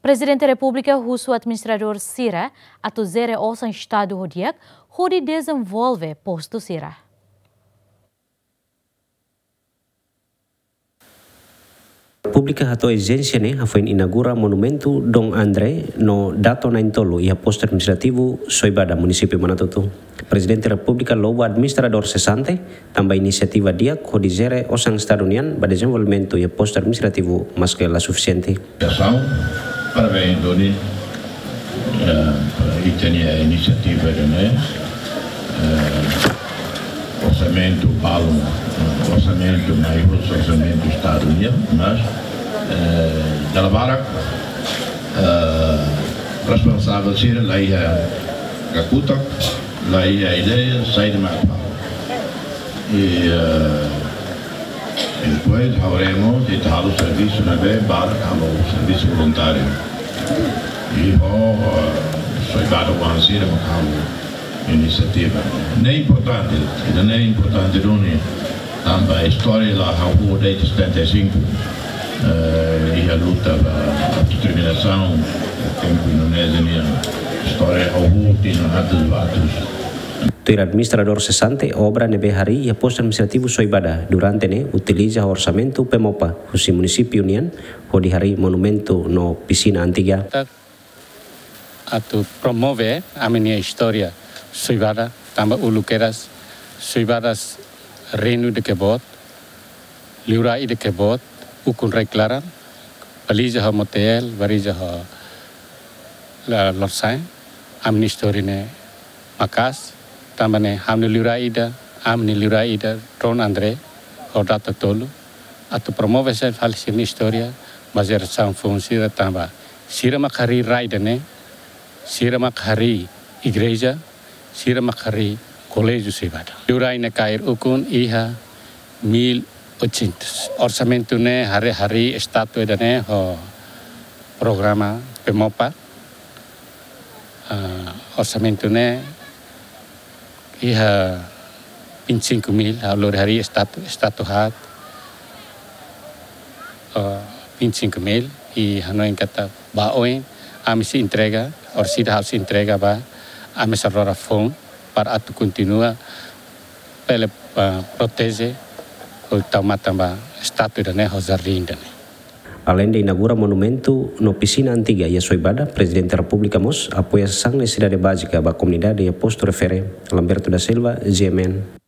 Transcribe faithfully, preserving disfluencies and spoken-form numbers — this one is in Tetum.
Prezidente Repúblika husu administradór sira atu jere osan Estadu ho di'ak hodi dezenvolve postu sira. Públika hato'o ezijénsia ne'e hafoin inaugura monumentu Dom André no Dato na'in-tolu iha Postu Administrativu Soibada, Munisípiu Manatuto. Prezidente Repúblika louva administradór sesante tanba inisiativa di'ak hodi jere osan Estadu nian ba dezenvolvimentu iha Postu Administrativu, maske la sufisiente. Asaun para bem doni, eh, para ita-nia inisiativa ne'e, eh, orsamentu balun, orsamentu mai husi orsamentu Estadu nian, mas, eh, dala barak, eh, responsavel sira la iha kakutak, la iha ideia saida mak fó. I, eh, i depois ha'u haree mós ita halo servisu ne'ebé barak halo servisu voluntáriu. I ho, eh, soldadu oan sira mak halo inisiativa. Ne'e importante, ida-ne'e importante duni, tanba istória la hahú de'it setenta e cinco, eh, iha luta ba autodeterminasaun, tempu Indonézia nian. Istória hahú tinan atus ba atus. Tuir administradór sesante, obra ne'ebé harii iha Postu Administrativu Soibada durante ne'e utiliza orsamentu PEMOPA husi munisípiu nian hodi harii monumentu no pisina antiga. Atu promove ami-nia istória Soibada, tanba uluk kedas Soibadas reinu ida ke boot, liurai ida ke boot, ukun rai-klaran, Baliza ho Motael, Baliza ho La-, Lorsain, ami-nia istória ne'e maka'as, tanba ne'e ami-nia liurai ida, ami-nia liurai ida, Dom André, ho Dato tolu, atu promove sai fali sira-nia istória ba jerasaun foun sira tanba sira mak harii rai ida-ne'e, sira mak harii igreja, sira mak harii koléjiu Soibada. Liurai ne'e kaer ukun iha mil oitocentos. Orsamentu ne'e harii, harii estátua ida-ne'e ho programa PEMOPA. Ah, orsamentu ne'e iha vinte e cinco mil, ha'u lori harii estátua, estátua haat, ah, vinte e cinco mil, i hanoin katak ba oin, ami sei entrega, orsida ha'u sei entrega ba, ami sei lori foun, para atu kontinua, bele, ah, proteje, ho tau matan ba estátua ida-ne'e, ho jardín ida-ne'e. Aleinde inaugura monumentu no pisina antiga iha Soibada, Prezidente Repúblika mós apoia sasán nesesidade bázika ba komunidade iha postu refere. Lamberto da Silva, G M N.